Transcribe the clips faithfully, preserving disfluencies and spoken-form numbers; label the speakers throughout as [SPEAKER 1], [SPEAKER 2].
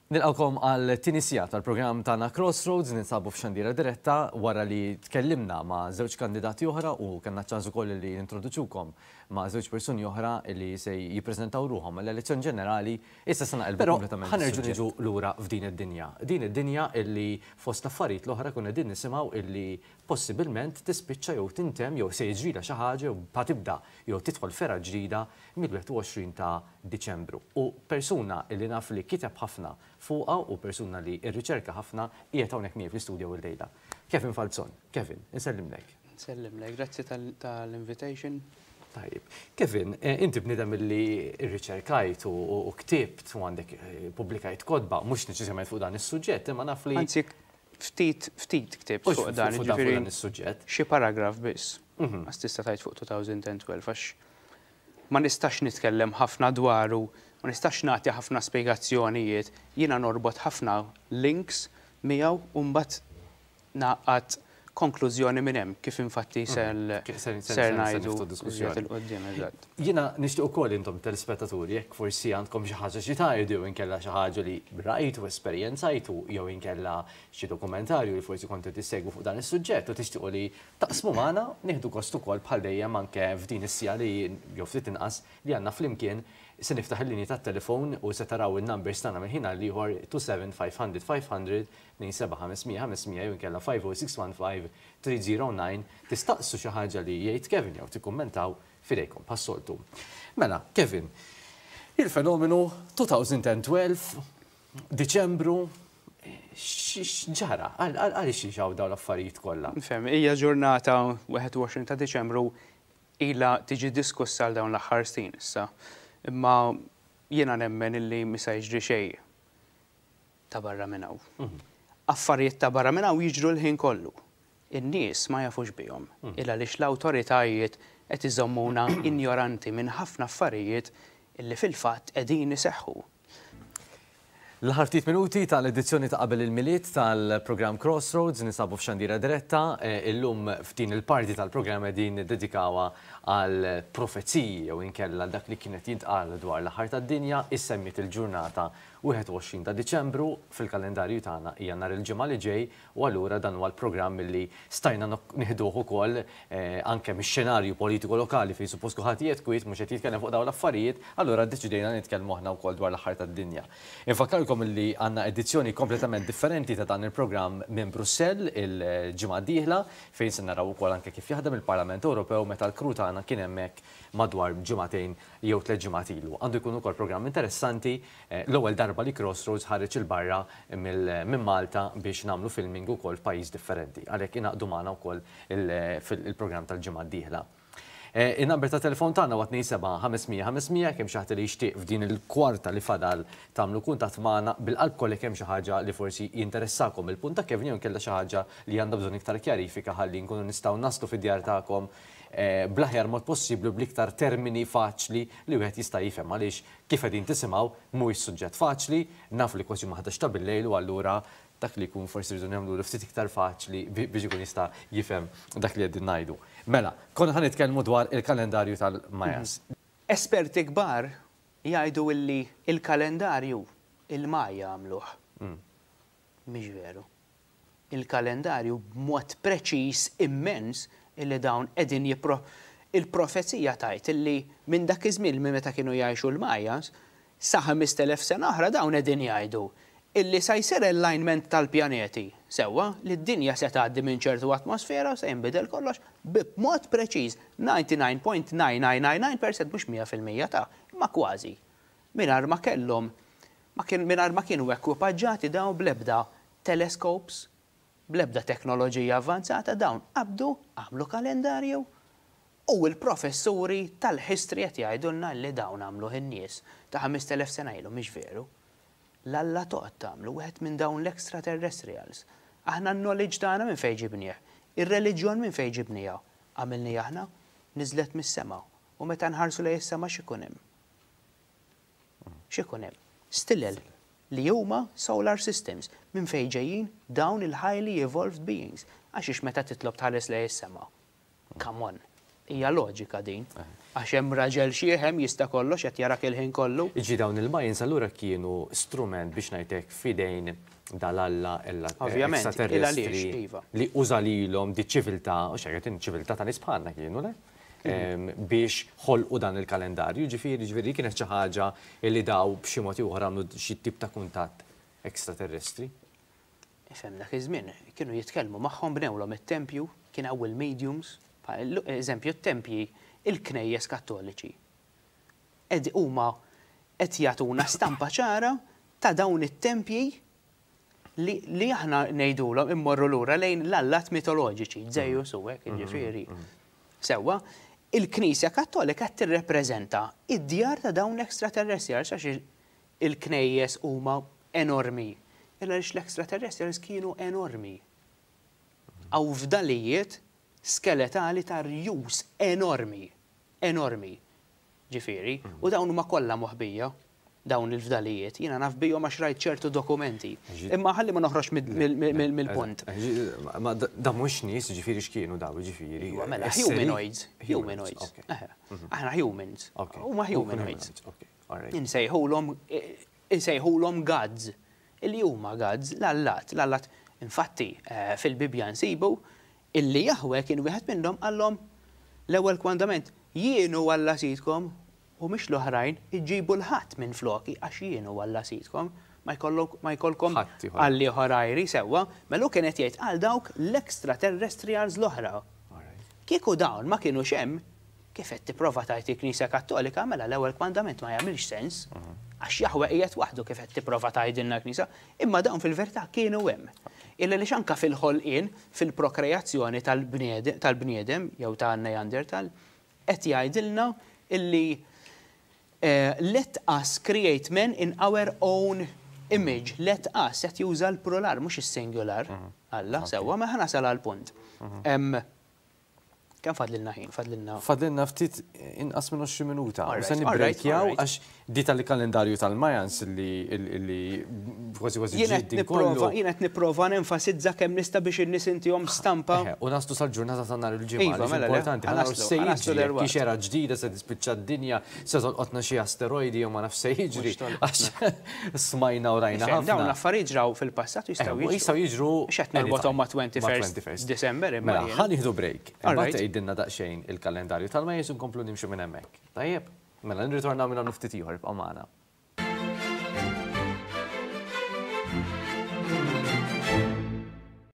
[SPEAKER 1] Nilqgħukom għal tieni siegħa tal-programm tagħna Crossroads. Ninsabu f'xandira diretta wara li tkellimna ma' żewġ kandidati oħra u kellna ċans ukoll li nintroduċukom ma' żewġ persuni oħra li se jippreżentaw ruħhom għall-elezzjoni ġenerali. Issa se naqilbu kompletament. Ħa nerġgħu niġu lura f'din id-dinja. Din id-dinja illi fost affarijiet l-oħra konna din nisimgħu illi possibilment tispiċċa jew tintemm jew se jiġrilha xi ħaġa jew tibda jew tidħol f'era ġdida mill-wieħed u għoxrin ta' Diċembru. U persuna illi naf li kiteb ħafna fuqha u persuna li rriċerka ħafna qiegħed hawnhekk miegħi fl-istudio illejla. Kevin Falzon. Kevin, insellimlek.
[SPEAKER 2] Nsellimlek, grazzi tal-invitation.
[SPEAKER 1] Tajib. Kevin, eh, inti bniedem li rriċerkajt u ktibt u għandek eh, pubblikajt kotba, mhux neċessarjament fuq dan is-suġġett, imma naf li.
[SPEAKER 2] Anzi, ftit, ftit ktibt fuq dan,
[SPEAKER 1] ġifieri is-suġġett.
[SPEAKER 2] Xi paragraf biss. Mhm. Għas tista' tgħid fuq elfejn u tnax, għax ma nistax nitkellem ħafna dwaru, ma nistax nagħti ħafna spjegazzjonijiet, jiena norbot ħafna links miegħu u mbagħad naqgħad konklużjoni minn hemm, kif infatti mhm. ser ser ngħidu
[SPEAKER 1] il-quddiem. Jiena nixtieq ukoll intom telespettaturi, jekk forsi għandkom xi ħaġa xi tgħidu jew inkella xi ħaġa li rajtu, esperjenzajtu, jew inkella xi dokumentarju li forsi kontu tissegwu fuq dan is-suġġett u tixtiequ li taqsmu magħna, nieħdu gost ukoll bħal dejjem anke f'din is-siegħa li jew ftit inqas li għandna flimkien. Se niftaħ il-linji tat-telefon u se taraw il-numbers tagħna minn ħin għal ieħor: twenty-seven five hundred five hundred, twenty-seven five hundred five hundred jew inkella five oh six one five three oh nine. Tistaqsu xi ħaġa li jgħid Kevin jew tikkummentaw, f'idejkom bħas-soltu. Mela, Kevin, il-fenomenu elfejn u tnax, Diċembru, x'ġara? Għaliex ġraw dawn l-affarijiet kollha?
[SPEAKER 2] Nifhem, hija ġurnata wieħed u għoxrin ta' Diċembru ilha tiġi diskussa għal dawn l-aħħar snin issa. Imma jiena nemmen illi mhu sa jiġri xejn ta' barra minn hawn. Mhm. Affarijiet ta' barra minn hawn jiġru l-ħin kollu. In-nies ma jafux bihom. Mhm. Illa għaliex l-awtoritajiet qed iżommuna ignoranti minn ħafna affarijiet illi fil-fatt qegħdin iseħħu.
[SPEAKER 1] L-aħħar ftit minuti tal-edizzjoni ta' qabel il-Milied tal-programm Crossroads, ninsabu f'xandira diretta. Eh, illum f'din il-parti tal-programm qegħdin dedikawha għal profeziji jew inkella dak li kienet jintqal dwar l-aħħar tad-dinja. Issemmiet il-ġurnata wieħed u għoxrin ta' Diċembru fil-kalendarju tagħna, hija nhar il-ġimgħa li ġej, u allura dan huwa l-programm li stajna nieħduh ukoll eh, anke mix-xenarju politiku lokali fejn suppost kulħadd qiegħed kwiet, mhux qed jitkellem fuq dawn l-affarijiet, allura ddeċidejna nitkellmu aħna wkoll dwar l-aħħar tad-dinja. Infakkarkom li għandna edizzjoni kompletament differenti ta' dan il-programm minn Brussell il-ġimgħa d-dieħla, fejn se naraw ukoll anke kif jaħdem il-Parlament Ewropew meta l-crew tagħna kien hemmhekk madwar ġimagħtejn jew tliet ġimgħat ilu. Għandu jkun ukoll programm interessanti, eh, l-ewwel darba li Crossroads ħareġ 'il barra minn Malta biex nagħmlu filming ukoll f'pajjiż differenti. Għalhekk ingħaqdu magħna wkoll fil-programm tal-ġimgħa d-dieħla. Eh, il-number ta' telefon tagħna huwa twenty-seven five hundred five hundred. Kemm xi ħadd li jixtieq f'din il-kwarta li fadal tagħmlu kuntatt magħna bil-qalb kollha, kemm xi ħaġa li forsi jinteressakom il-punt ta' Kevin jew kellha xi ħaġa li għandha bżonn iktar kjarifika ħalli nkunu nistgħu naslu fid-djar tagħkom eh, bl-aħjar mod possibbli, bl-iktar termini faċli li wieħed jista' jifhem, għaliex kif qegħdin tisimgħu mhuwiex suġġett faċli, naf li kważi ma ħdax ta' bil-lejl u allura dak li jkun forsi rridu nagħmlu ftit iktar faċli biex ikun jista' jifhem dak li qegħdin ngħidu. Mela, konna ħa nitkellmu dwar il-kalendarju tal-Majas.
[SPEAKER 2] Esperti kbar jgħidu illi il-kalendarju il-Maja għamluh. Mm. Mhix veru. Il-kalendarju b'mod preċiż immens illi dawn qegħdin jipro il-profezija tgħid illi minn dak iż-żmien, minn meta kienu jgħixu l-Majas, sa ħamest elef sena oħra, dawn qegħdin jgħidu illi sa jsir alignment tal-pjaneti, sewwa, li d-dinja se tgħaddi minn ċertu atmosfera u se jinbidel kollox b'mod preċiż, disgħa u disgħin punt tnejn tnejn tnejn tnejn fil-mija, mhux mija fil-mija ta' ma kważi. Mingħajr ma kellhom ma kien mingħajr ma kienu ekwipaġġati dawn bl-ebda telescopes, bl-ebda teknoloġija avvanzata, dawn qabdu għamlu kalendarju u l-professuri tal-history qed jgħidulna li dawn għamlu in-nies ta' ħamest elef sena ilu. Mhix veru. L-Alla toqgħod tagħmlu, wieħed minn dawn l-extraterrestrials. Aħna n-knowledge tagħna minn fejn ġibnieh? Ir-reliġjon minn fejn ġibniha? Għamilni aħna? Niżlet mis-sema. U meta nħarsu lejn is-sema x'ikun hemm? X'ikun hemm? Stilel li huma solar systems. Minn fejn ġejjin dawn il-highly evolved beings? Għax meta titlob tħares lejn is-sema. Come on. Hija loġika din. Għax hemm raġel xiħ hemm jista' kollox qed jarak il-ħin kollu.
[SPEAKER 1] Iġi dawn il-Mayans allura kienu strument biex ngħidlek f'idejn dal-alla ella
[SPEAKER 2] Ovvjament,
[SPEAKER 1] extraterrestri
[SPEAKER 2] iva.
[SPEAKER 1] li uża lilhom di ċiviltà, u xejn ċiviltà ta' nies bħalna kienu, le? Em, biex ħolqu dan il-kalendarju, ġifieri ġifieri kienet xi ħaġa li daw b'xi mod ieħor għamlu xi tip ta' kuntatt extraterrestri.
[SPEAKER 2] Ifhem dak iż-żmien kienu jitkellmu magħhom bnewlhom it-tempju, kien hawn il-mediums, bħal- eżempju t-tempji il-knejjes kattoliċi. Ed huma qed jagħtuna stampa ċara ta' dawn it-tempji li, li aħna ngħidulhom immorru lura lejn l-allat mitoloġiċi, Zeus u hekk, jiġifieri. Sewwa, il-Knisja Kattolika qed tirrepreżenta id-djar ta' dawn l-extraterrestrials għax il-knejjes huma enormi. Illa għaliex l-extraterrestrials kienu enormi. Hawn fdalijiet skeletali ta' rjus enormi, enormi. Ġifieri, u dawn huma kollha moħbija, dawn il-fdalijiet. Jiena naf bihom għax rajt ċertu dokumenti. Imma ħalli ma noħroġ mill-punt.
[SPEAKER 1] Ma da mhux nies, ġifieri x'kienu daw, ġifieri.
[SPEAKER 2] Iva, mela, humanoids, humanoids. Aħna humans. Huma humanoids. Insejħulhom insejħulhom gods. Illi huma gods, l-allat, l-allat. Infatti, eh, fil-Bibja nsibu illi Jahwe kien wieħed minnhom qallhom l-ewwel kmandament jien hu Alla sidkom u mhix l-oħrajn iġibu l-ħadd minn floki għax jien hu Alla sidkom ma jkollkom għalli ħorajri sewwa, melu kienet jgħid għal dawk l-extraterrestrials l-oħra. Kieku dawn ma kienu hemm, kif qed tipprova tgħid il-Knisja Kattolika, mela l-ewwel kmandament ma jagħmilx sens. Għax Jaħwe qiegħed waħdu kif qed tipprova tgħidilna l-Knisja, imma dawn fil-verità kienu hemm. Illa li anka fil-ħolqien, fil-prokreazzjoni tal-bniedem jew ta' Neandertal, qed jgħidilna illi eh, let us create men in our own image. Let us qed juża l-plural mhux is-singular. Alla, sewwa, ma ħa nasal għal-punt. Kemm fadlilna ħin? Fadlilna.
[SPEAKER 1] Fadlilna ftit inqas minn għoxrin minuta. U se nibbrejkjaw għax di tal-kalendarju tal-Mayans li kważi kważi
[SPEAKER 2] ġid kollu. Jien qed nipprova nenfasizza kemm nista' biex in-nies intihom stampa.
[SPEAKER 1] U naslu sal-ġurnata ta' nhar il-ġimgħa. Iva, mela, importanti. Se jiġri kiex era ġdida se tispiċċa d-dinja, se tolqotna xi asteroidi jew ma naf se jiġri. Għax smajna u rajna ħafna.
[SPEAKER 2] Dawn l-affarijiet ġraw fil-passat
[SPEAKER 1] jistgħu jiġru. Jistgħu jiġru.
[SPEAKER 2] X'qed norbothom ma' twenty-first December
[SPEAKER 1] imma. Mela, ħa nieħdu break. Imbagħad tgħidilna daqsxejn il-kalendarju tal-Mayans nkomplu nimxu minn hemmhekk. Tajjeb, mela nirritornaw minn hawn ftit ieħor ibqa' magħna.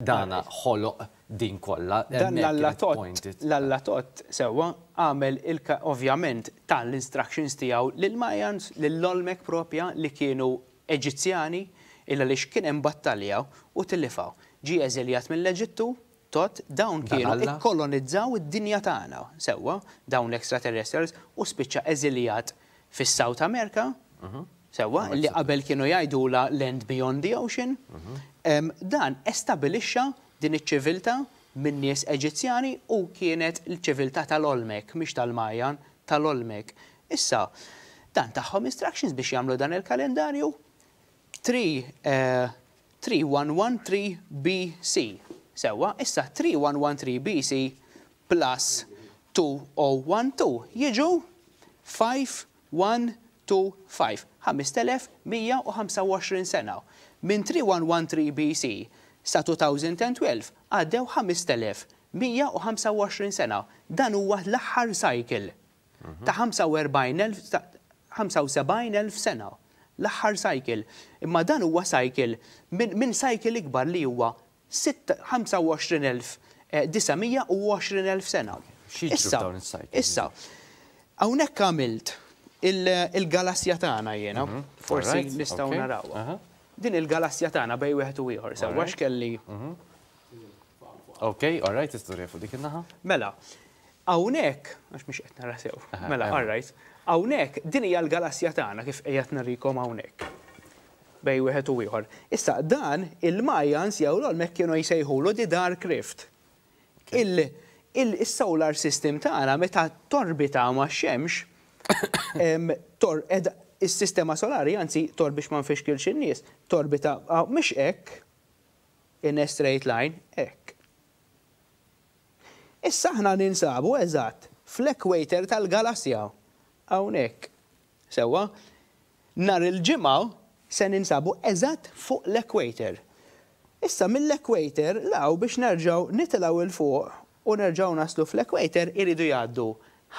[SPEAKER 1] Dana ħoloq din kollha.
[SPEAKER 2] Dan l-allatot, l-allatot sewwa għamel ovvjament tal-instructions tiegħu lil-Mayans, lill-Olmek propja li kienu Eġizzjani, illa li kien hemm battalja u tillifaw. Ġie eżiljat mill-Eġittu, tot dawn kienu ikkolonizzaw id-dinja tagħna, sewwa, dawn l-extraterrestrials u spiċċa eżiljat fis-South America, sewwa, li qabel kienu jgħidula Land Beyond the Ocean. Dan estabilixxa din iċ-ċiviltà minn nies Eġizzjani u kienet l-ċiviltà tal-Olmek, mhix tal-Majan, tal-Olmek. Issa, dan tagħhom instructions biex jagħmlu dan il-kalendarju tlieta wieħed wieħed tlieta B C. Sewwa, issa tlieta wieħed wieħed tlieta B C plus elfejn u tnax jiġu ħamsa wieħed tnejn ħamsa, ħamest elef u mija u ħamsa u għoxrin sena. Minn tlieta wieħed wieħed tlieta B C sa elfejn u tnax għaddew ħamest elef u mija u ħamsa u għoxrin sena. Dan huwa l-aħħar cycle ta' ħamsa u erbgħin elf sena. L-aħħar cycle. Imma dan huwa cycle minn min cycle ikbar li huwa ħamsa u għoxrin elf disa' mija u għoxrin elf sena.
[SPEAKER 1] Issa,
[SPEAKER 2] issa, hawnhekk għamilt il-galassja tagħna jiena, mhm. forsi nistgħu narawha. Din il-galassja tagħna bej wieħed u ieħor, sewwa x'kelli.
[SPEAKER 1] Mhm. Ok, all right, istorja fuq dik in-naħa.
[SPEAKER 2] Mela, hawnhekk, għax mhux qed nara sew. Mela, all right. Hawnhekk din hija l-galassja tagħna kif qiegħed narikom hawnhekk. Bej wieħed u ieħor. Issa dan il-Mayans jew l-Olmek kienu jsejħulu the Dark Rift. Il-solar system tagħna meta torbita ma' xemx, is-sistema solari, anzi tor biex ma nfixkilx in-nies, torbita mhux hekk in a straight line, hekk. Issa aħna ninsabu eżatt fl-equator tal-galassja. Hawnhekk. Sewwa, nhar il-Ġimgħa se ninsabu eżatt fuq l-equator. Issa mill-equator 'l hawn biex nerġgħu nitilgħu 'l fuq u nerġgħu naslu fl-equator iridu jgħaddu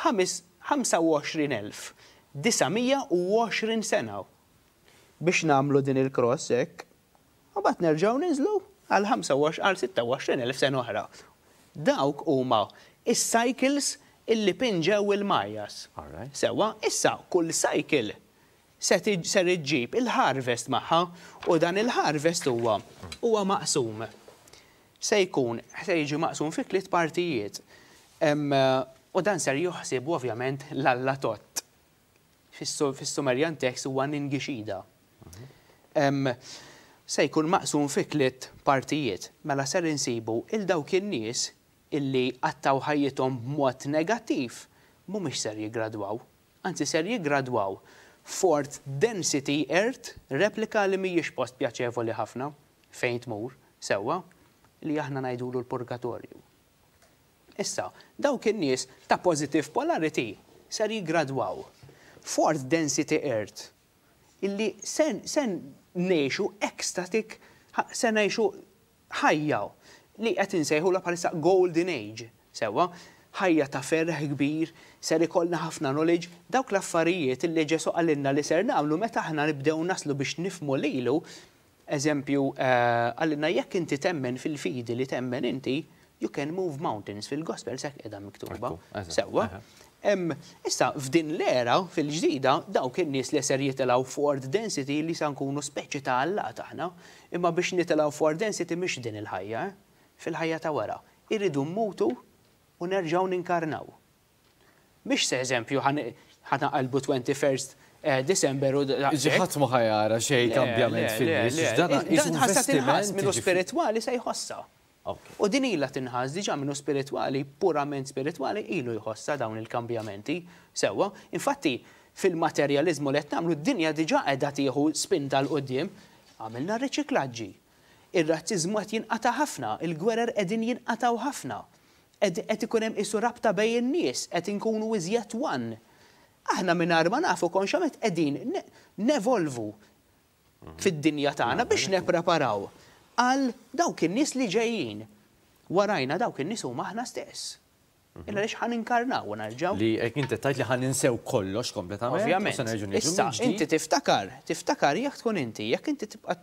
[SPEAKER 2] ħamsa u għoxrin elf disa' mija u għoxrin sena biex nagħmlu din il-cross hekk. U mbagħad nerġgħu ninżlu għal ħamsa u għoxrin, għal sitta u għoxrin elf sena oħra. Dawk huma is-cycles illi pinġew il-Majas.
[SPEAKER 1] Alright.
[SPEAKER 2] Sewwa, issa kull cycle se tiġ- ser iġġib il-harvest magħha u dan il-harvest huwa huwa maqsum. Se jkun se jiġi maqsum fi tliet partijiet. Em, U dan ser joħsib ovvjament l-Alla Tot. Fis-Sumerian text huwa Ningishzida. Em, Se jkun maqsum fi tliet partijiet. Mela ser insibu il dawk in-nies illi qattaw ħajjithom b'mod negattiv mhumiex ser jiggradwaw. Anzi, ser jiggradwaw fourth density earth replika li mhijiex post pjaċevoli ħafna fejn tmur, sewwa, li aħna ngħidulu l-purgatorju. Issa, dawk in-nies ta' positive polarity ser jiggradwaw fourth density earth illi sen, sen ngħixu ecstatic, se ngħixu ħajja li qed insejħu la bħalissa golden age, sewwa, ħajja ta' ferħ kbir, ser ikollna ħafna knowledge, dawk l-affarijiet illi Ġesu qalilna li ser nagħmlu meta aħna nibdew naslu biex nifhmu lilu, eżempju, eh, qalilna jekk inti temmen fil-fidi li temmen inti, you can move mountains, fil-gospel hekk qiegħda miktuba.
[SPEAKER 1] Ekku, eżatt,
[SPEAKER 2] Sewwa.
[SPEAKER 1] eħe.
[SPEAKER 2] Em, Issa, f'din l-era, fil-ġdida, dawk in-nies li ser jitilgħu fourth density, li sa nkunu speċi ta' Alla taħna, imma biex nitilgħu fourth density mhix din il-ħajja, eh? Fil-ħajja ta' wara. Irridu mmutu u nerġgħu ninkarnaw. Mhix se eżempju ħa naqalbu twenty-first eh, December u
[SPEAKER 1] Ġi ħadd ma ħa jara xejn kambjament fin-nies. Dan
[SPEAKER 2] Dan ħassa tinħass
[SPEAKER 1] investiment.
[SPEAKER 2] minnu spiritwali se jħossa.
[SPEAKER 1] Ok.
[SPEAKER 2] U din ilha tinħass diġà minnu spiritwali, purament spiritwali, ilu jħossa dawn il-kambjamenti. Sewwa, infatti fil-materjalizmu li qed nagħmlu, d-dinja diġà qiegħda tieħu spinta 'l quddiem. Għamilna riċiklaġġi. Ir-razziżmu qed jinqata' ħafna, il-gwerer qegħdin jinqataw ħafna. Qed ikun hemm isu rabta bejn in-nies, qed inkunu iżjed one. Aħna mingħajr ma nafu konxjament qegħdin nevolvu fid-dinja tagħna biex nippreparaw għal dawk in-nies li ġejjin. Warajna, dawk in-nies huma aħna stess. Illa għaliex ħa ninkarnaw u nerġgħu.
[SPEAKER 1] Li jekk inti tajt li ħa ninsew kollox kompletament. U
[SPEAKER 2] Ovvjament.
[SPEAKER 1] se nerġgħu niġu
[SPEAKER 2] Issa,
[SPEAKER 1] mill-ġdid.
[SPEAKER 2] inti tiftakar, tiftakar jekk tkun inti, jekk inti tibqa'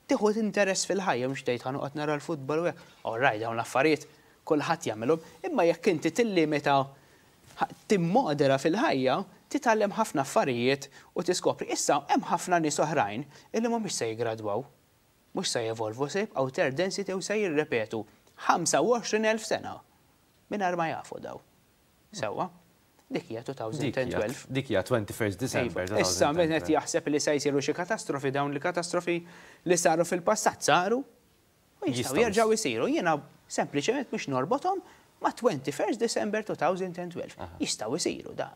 [SPEAKER 2] tieħu interess fil-ħajja, mhux tgħid ħa noqgħod nara l-futbol u hekk. All right, dawn l-affarijiet kulħadd jagħmelhom, imma jekk inti tillimita, timmodera fil-ħajja, titgħallem ħafna affarijiet u tiskopri. Issa hemm ħafna nies oħrajn illi mhumiex se jiggradwaw, mhux se jevolvu, se jibqgħu third density u se jirrepetu ħamsa u għoxrin elf sena mingħajr ma jafu daw. Sewwa, dik hija twenty twelve.
[SPEAKER 1] Dik hija twenty-first December.
[SPEAKER 2] Iva. Issa min qed jaħseb li se jsiru xi katastrofi, dawn li katastrofi li saru fil-passat saru u jistgħu
[SPEAKER 1] Jistgħu
[SPEAKER 2] jerġgħu jsiru. Jiena sempliċement biex norbothom ma' twenty-first December twenty twelve. Jistgħu jsiru da.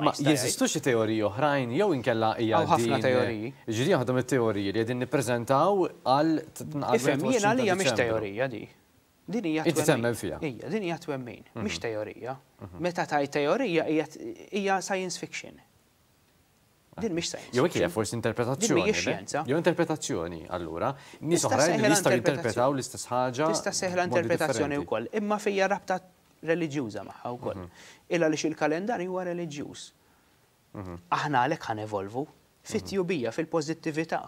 [SPEAKER 1] Ma jeżistu xi teoriji oħrajn jew inkella hija
[SPEAKER 2] Hawn ħafna
[SPEAKER 1] din-
[SPEAKER 2] teoriji.
[SPEAKER 1] Ġifieri waħda mit-teoriji li qegħdin nippreżentaw għal
[SPEAKER 2] Ifhem, jiena għalija mhix teorija di. Din hija
[SPEAKER 1] Inti
[SPEAKER 2] twemmin.
[SPEAKER 1] temmen fiha?
[SPEAKER 2] Ija, din hija twemmin, mhix teorija. Meta taj teorija hija hija science fiction. Din mhix science
[SPEAKER 1] Jew hekk hija
[SPEAKER 2] fiction.
[SPEAKER 1] forsi interpretazzjoni.
[SPEAKER 2] Din mhijiex
[SPEAKER 1] le?
[SPEAKER 2] xjenza.
[SPEAKER 1] Jew interpretazzjoni, allura. Nies
[SPEAKER 2] Tista'
[SPEAKER 1] oħrajn li
[SPEAKER 2] sejħilha
[SPEAKER 1] jistgħu
[SPEAKER 2] interpretazzjoni.
[SPEAKER 1] jinterpretaw l-istess ħaġa
[SPEAKER 2] Tista' sejħilha
[SPEAKER 1] b'modi
[SPEAKER 2] interpretazzjoni
[SPEAKER 1] differenti.
[SPEAKER 2] wkoll, imma fija rabta reliġjuża magħha wkoll. Illa għaliex il-kalendarju huwa reliġjuż. Aħna għalhekk ħa nevolvu fit-tjubija, fil-pożittività.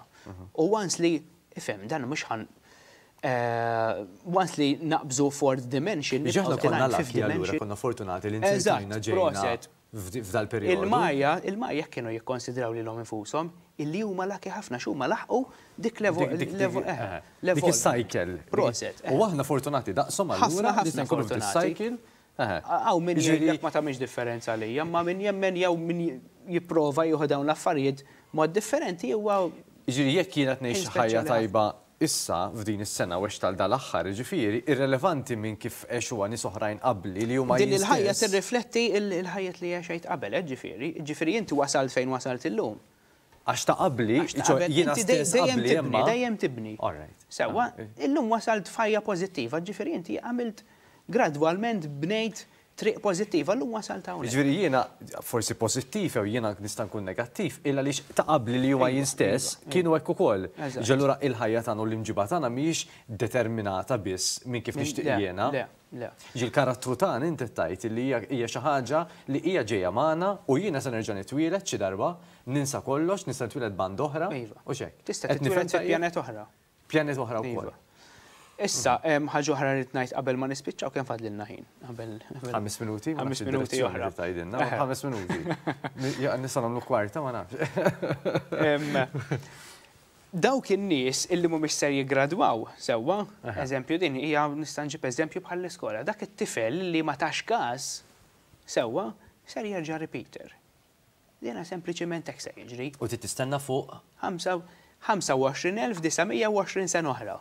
[SPEAKER 2] U once li, ifhem, dan mhux ħan eh, once li naqbżu fourth dimension,
[SPEAKER 1] Ġi aħna
[SPEAKER 2] nibqgħu
[SPEAKER 1] konna
[SPEAKER 2] tilgħin fifth
[SPEAKER 1] lucky allura,
[SPEAKER 2] dimension.
[SPEAKER 1] konna fortunati li
[SPEAKER 2] Eżatt,
[SPEAKER 1] nzertajna ġejna
[SPEAKER 2] proset.
[SPEAKER 1] f'dal periodu.
[SPEAKER 2] Il-Maja, il-Maja kienu jikkonsidraw li l infushom illi huma lucky ħafna x'huma laħqu dik levo,
[SPEAKER 1] Dik- dik-
[SPEAKER 2] levo,
[SPEAKER 1] dik-
[SPEAKER 2] eh,
[SPEAKER 1] eh,
[SPEAKER 2] level.
[SPEAKER 1] Dik is-cycle.
[SPEAKER 2] Proset.
[SPEAKER 1] U aħna fortunati daqshom
[SPEAKER 2] Ħafna,
[SPEAKER 1] allura li
[SPEAKER 2] ħafna
[SPEAKER 1] se nkunu f'dis
[SPEAKER 2] fortunati.
[SPEAKER 1] cycle. Eh.
[SPEAKER 2] Hawn min
[SPEAKER 1] Jiġifieri-
[SPEAKER 2] jgħidlek ma tagħmilx differenza għalija, ma min jemmen jew min jipprova jieħu dawn l-affarijiet mod differenti huwa
[SPEAKER 1] Jiġifieri jekk jiena ngħix
[SPEAKER 2] Ħin
[SPEAKER 1] ħajja
[SPEAKER 2] speċjali.
[SPEAKER 1] tajba issa f'din is-sena u tal dal-aħħar, jiġifieri irrelevanti minn kif għexuha nies oħrajn qabli li huma
[SPEAKER 2] Din
[SPEAKER 1] jien
[SPEAKER 2] il-ħajja
[SPEAKER 1] stess.
[SPEAKER 2] tirrifletti il-ħajja li għexejt qabel, eh, ġifieri. Ġifieri inti wasalt fejn wasalt illum.
[SPEAKER 1] Għax ta' qabli,
[SPEAKER 2] Għax ta'
[SPEAKER 1] ċo,
[SPEAKER 2] qabel,
[SPEAKER 1] jiena
[SPEAKER 2] inti dej-
[SPEAKER 1] stess
[SPEAKER 2] dejjem
[SPEAKER 1] qabli
[SPEAKER 2] tibni,
[SPEAKER 1] imma.
[SPEAKER 2] dejjem tibni.
[SPEAKER 1] All right.
[SPEAKER 2] Sewwa,
[SPEAKER 1] Ah,
[SPEAKER 2] illum wasalt f'ħajja pożittiva, ġifieri inti għamilt gradwalment bnejt Triq pożittiva llum wasalt hawnhekk.
[SPEAKER 1] Ġifieri jiena forsi pożittiv jew jiena nista' nkun negattiv, illa li ta' qabli li huma jien stess kienu hekk ukoll. Allura il-ħajja tagħna u l-imġiba tagħna mhijiex determinata biss minn kif nixtieq jiena.
[SPEAKER 2] Le, le.
[SPEAKER 1] Ġi l-karattru tagħna inti tajt li hija xi ħaġa li hija ġejja magħna u jiena se nerġa' nitwieled xi darba, ninsa kollox, nista' nitwieled band oħra. U x'hekk.
[SPEAKER 2] Tista' titwieled fi pjanet oħra.
[SPEAKER 1] Pjanet oħra wkoll.
[SPEAKER 2] Issa, ħaġa oħra rrid ngħid qabel ma nispiċċaw, kemm fadlilna ħin? Qabel
[SPEAKER 1] Ħames minuti?
[SPEAKER 2] Ħames minuti oħra.
[SPEAKER 1] Ħames minuti. Nista' nagħmlu kwarta, ma nafx.
[SPEAKER 2] Dawk in-nies illi mhumiex ser jiggradwaw sewwa, eżempju din hija nista' nġib eżempju bħall-iskola, dak it-tifel li ma tax każ sewwa ser jerġa' repeater. Dina sempliċiment hekk se jiġri.
[SPEAKER 1] U trid tistenna fuq
[SPEAKER 2] ħamsa u għoxrin elf disa' mija u għoxrin sena oħra.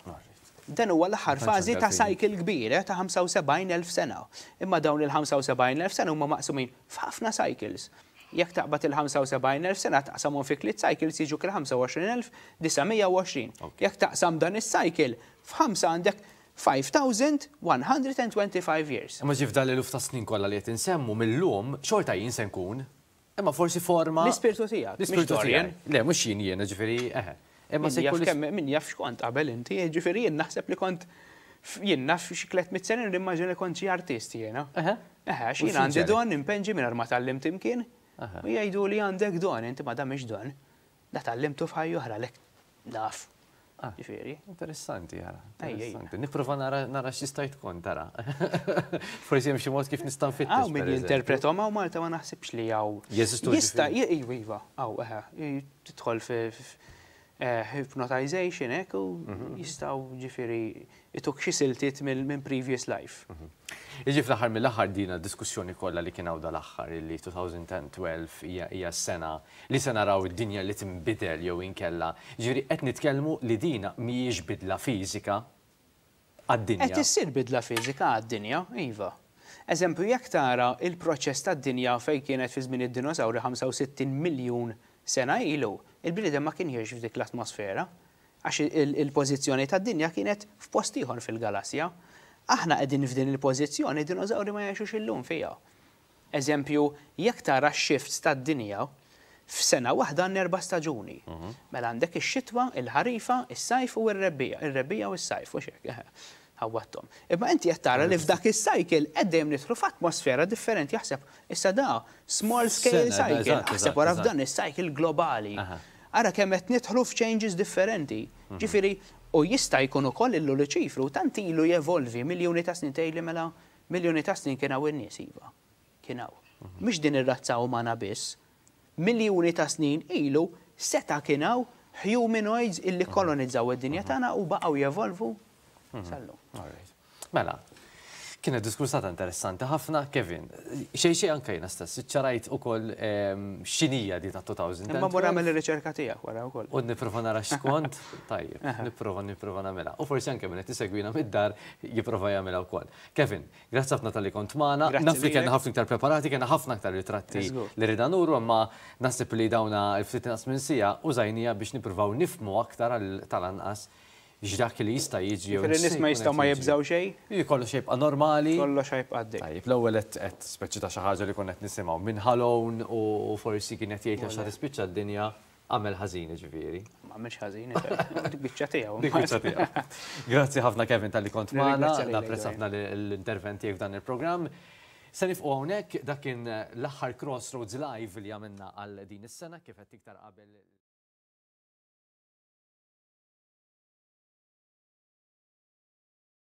[SPEAKER 2] Dan huwa l-aħħar fażi ta' cycle kbir, eh, ta' ħamsa u sebgħin elf sena. Imma dawn il-ħamsa u sebgħin elf sena huma maqsumin f'ħafna cycles. Jekk taqbad il-ħamsa u sebgħin elf sena taqsamhom fi tliet cycles jiġuk il-ħamsa u għoxrin elf disa' mija u għoxrin.
[SPEAKER 1] Ok.
[SPEAKER 2] Jekk taqsam dan is-cycle f'ħamsa għandek five thousand one hundred and twenty-five years.
[SPEAKER 1] Imma ġif dan l-eluf ta' snin kollha li qed insemmu mill-lum xorta jien se nkun. Imma forsi forma
[SPEAKER 2] L-ispirtu tiegħek,
[SPEAKER 1] L-ispirtu
[SPEAKER 2] mhux Dorian.
[SPEAKER 1] tiegħek. Le, mhux jien jiena, ġifieri, eħe. Imma
[SPEAKER 2] Min
[SPEAKER 1] se
[SPEAKER 2] jaf
[SPEAKER 1] jkun
[SPEAKER 2] kemm, min jaf x'kont qabel inti, ġifieri jien naħseb li kont f-, jien naf xi tliet mitt sena nimmaġina li kont xi artist jiena.
[SPEAKER 1] Eħe.
[SPEAKER 2] Eħe, għax
[SPEAKER 1] U
[SPEAKER 2] jien għandi
[SPEAKER 1] x'inġeri?
[SPEAKER 2] don impenġi mingħajr ma tgħallimt imkien.
[SPEAKER 1] Eħe.
[SPEAKER 2] U jgħidu li għandek don, inti ma da mhix don. Da tgħallimtu f'ħajja oħra lek naf.
[SPEAKER 1] Ah.
[SPEAKER 2] Ġifieri.
[SPEAKER 1] Interessanti, jara.
[SPEAKER 2] Ej, ej.
[SPEAKER 1] Interessanti. Nipprova nara, nara x'jista' tkun tara. Forsi hemm xi mod kif nista' nfittex,
[SPEAKER 2] Hawn min
[SPEAKER 1] per eżempju.
[SPEAKER 2] jinterpretom hawn Malta ma naħsibx li hawn.
[SPEAKER 1] Jeżistu
[SPEAKER 2] Jista'
[SPEAKER 1] ġifieri?
[SPEAKER 2] iva, iva, hawn, eħe, tidħol fi eh, hypnotization hekk u
[SPEAKER 1] Mhm.
[SPEAKER 2] jistgħu ġifieri ituk xi siltiet mill-, minn previous life.
[SPEAKER 1] Mhm. Jiġi fl-aħħar mill-aħħar dina diskussjoni kollha li kien hawn dal-aħħar illi two thousand and twelve hija, hija s-sena li se naraw id-dinja li tinbidel jew inkella. Ġifieri qed nitkellmu li dina mhijiex bidla fiżika għad-dinja.
[SPEAKER 2] Qed issir bidla fiżika għad-dinja, iva. Eżempju, jekk tara il-proċess tad-dinja fejn kienet fi żmien id-dinosawri ħamsa u sittin miljun sena ilu, il-bniedem ma kien jgħix f'dik l-atmosfera, għax il-, il-pożizzjoni tad-dinja kienet f'post ieħor fil-galassja. Aħna qegħdin f'din il-pożizzjoni, id-dinosawri ma jgħixux illum fiha. Eżempju, jekk tara x-shifts tad-dinja, f'sena waħda għandna erba' staġuni.
[SPEAKER 1] Mhm.
[SPEAKER 2] Mela għandek ix-xitwa, il-ħarifa, is-sajf u r-rebbija, ir-rebbija u s-sajf, u x'hekk, eħe, ħawwatthom. Imma inti qed tara li f'dak is-cycle qed dejjem nidħlu f'atmosfera differenti, jaħseb issa da small scale
[SPEAKER 1] Sena,
[SPEAKER 2] cycle,
[SPEAKER 1] eżatt,
[SPEAKER 2] aħseb
[SPEAKER 1] eżatt,
[SPEAKER 2] wara
[SPEAKER 1] eżatt.
[SPEAKER 2] f'dan is-cycle globali.
[SPEAKER 1] Aha.
[SPEAKER 2] Ara kemm qed nidħlu f'changes differenti.
[SPEAKER 1] Mhm.
[SPEAKER 2] Ġifieri, u jista' jkun ukoll illu Luċifru tant ilu jevolvi miljuni ta' snin tgħidli mela miljuni ta' snin kien hawn in-nies iva. Kien hawn.
[SPEAKER 1] Mhm.
[SPEAKER 2] Mhix din ir-razza umana biss. Miljuni ta' snin ilu seta' kien hawn humanoids illi
[SPEAKER 1] Mhm.
[SPEAKER 2] kolonizzaw id-dinja tagħna u baqgħu jevolvu
[SPEAKER 1] Mhm.
[SPEAKER 2] sal-lum.
[SPEAKER 1] All right. Mela, kienet diskursata interessanti ħafna, Kevin. Xej xej anke jiena stess, iċċarajt ukoll, ehm, x'inhija di ta' two thousand and
[SPEAKER 2] Imma wara
[SPEAKER 1] twelve.
[SPEAKER 2] nagħmel ir-riċerka tiegħek wara wkoll.
[SPEAKER 1] U nipprova nara x'kont, tajjeb,
[SPEAKER 2] Aha.
[SPEAKER 1] nipprova, nipprova nagħmilha. U forsi anke min qed isegwina mid-dar jipprova jagħmilha wkoll. Kevin, grazzi ħafna talli kont magħna.
[SPEAKER 2] Grazzi
[SPEAKER 1] Naf li kellna
[SPEAKER 2] lilek.
[SPEAKER 1] ħafna iktar preparati, kellna ħafna aktar ritratti
[SPEAKER 2] Żgur.
[SPEAKER 1] li rridna nuru, imma naħseb li dawna l-ftit inqas minn siegħa użajnija biex nippruvaw nifhmu aktar għal tal-anqas x'dak li jista' jiġi jew
[SPEAKER 2] Ġifieri n-nies ma
[SPEAKER 1] x'se jkun
[SPEAKER 2] jistgħu ma
[SPEAKER 1] qed jiġi.
[SPEAKER 2] jibżgħu xejn?
[SPEAKER 1] Iji, kollox jibqa' normali.
[SPEAKER 2] Kollox jibqa' għaddej.
[SPEAKER 1] Tajjeb, l-ewwel qed qed speċi ta' xi ħaġa li konna qed nisimgħu minn Halone u forsi kien qed jgħid għax tispiċċa d-dinja għamel ħażin ġifieri.
[SPEAKER 2] Ma għamilx ħażin, dik biċċa tiegħu.
[SPEAKER 1] Dik biċċa tiegħu. Grazzi ħafna Kevin talli kont magħna,
[SPEAKER 2] Nirringrazzja lilek,
[SPEAKER 1] napprezza ħafna l-intervent tiegħek f'dan il-programm. Se nifqu hawnhekk, dak kien l-aħħar Crossroads Live li għamilna għal din is-sena kif qed iktar qabel.